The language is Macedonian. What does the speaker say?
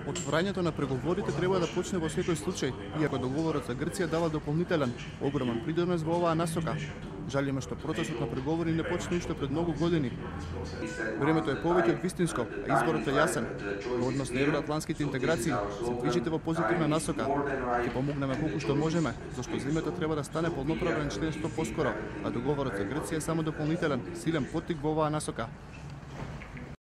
Отворањето на преговорите треба да почне во секој случај, иако договорот за Грција дава дополнителен, огромен придонес во оваа насока. Жалиме што процесот на преговори не почна уште пред многу години. Времето е повеќе од вистинско, а изборот е јасен. Во однос на евроатлантските интеграции се движите во позитивна насока. Ќе помогнеме колку што можеме, зашто земјата треба да стане полноправен член што поскоро, а договорот за Грција е само дополнителен, силен поттик во оваа насока.